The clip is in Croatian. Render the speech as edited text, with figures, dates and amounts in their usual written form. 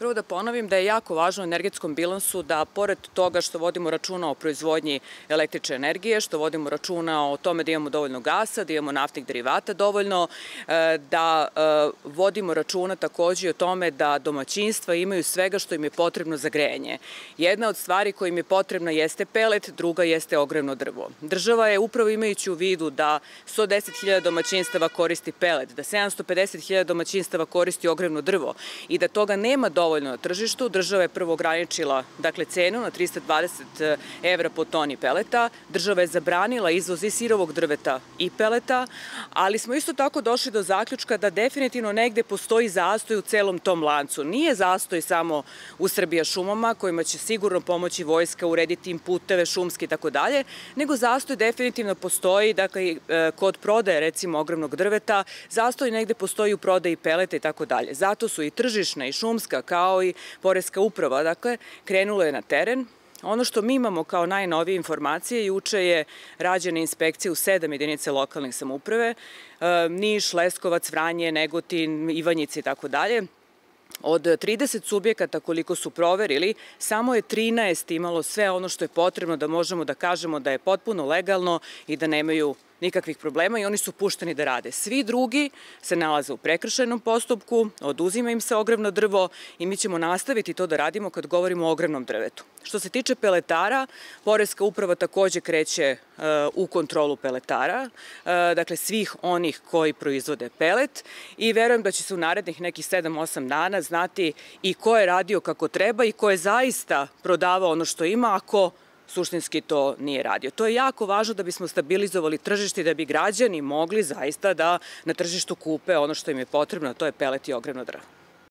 Prvo da ponovim da je jako važno u energetskom bilansu da pored toga što vodimo računa o proizvodnji električne energije, što vodimo računa o tome da imamo dovoljno gasa, da imamo naftnih derivata dovoljno, da vodimo računa takođe i o tome da domaćinstva imaju svega što im je potrebno za grejanje. Jedna od stvari koja im je potrebna jeste pelet, druga jeste ogrevno drvo. Država je upravo imajući u vidu da 110.000 domaćinstava koristi pelet, da 750.000 domaćinstava koristi ogrevno drvo i da toga nema dovoljno na tržištu. Država je prvo ograničila cenu na 320 evra po toni peleta. Država je zabranila izvoz i sirovog drveta i peleta, ali smo isto tako došli do zaključka da definitivno negde postoji zastoj u celom tom lancu. Nije zastoj samo u Srbijašumama, kojima će sigurno pomoći vojska, urediti im puteve, šumske i tako dalje, nego zastoj definitivno postoji, dakle, kod prodaje, recimo, ogrevnog drveta, zastoj negde postoji u prodaji peleta i tako dalje. Zato su i tržišna i šumska, kao i poreska uprava, dakle, krenulo je na teren. Ono što mi imamo kao najnovije informacije, juče je rađena inspekcija u 7 jedinica lokalnih samouprave, Niš, Leskovac, Vranje, Negotin, Ivanjica i tako dalje. Od 30 subjekata koliko su proverili, samo je 13 imalo sve ono što je potrebno da možemo da kažemo da je potpuno legalno i da nemaju nikakvih problema i oni su pušteni da rade. Svi drugi se nalaze u prekršajnom postupku, oduzima im se ogrevno drvo i mi ćemo nastaviti to da radimo kad govorimo o ogrevnom drvetu. Što se tiče peletara, poreska uprava takođe kreće u kontrolu peletara, dakle svih onih koji proizvode pelet i verujem da će se u narednih nekih 7-8 dana znati i ko je radio kako treba i ko je zaista prodavao ono što ima, a ko suštinski to nije radio. To je jako važno da bismo stabilizovali tržište i da bi građani mogli zaista da na tržištu kupe ono što im je potrebno, a to je pelet i ogrevno drvo.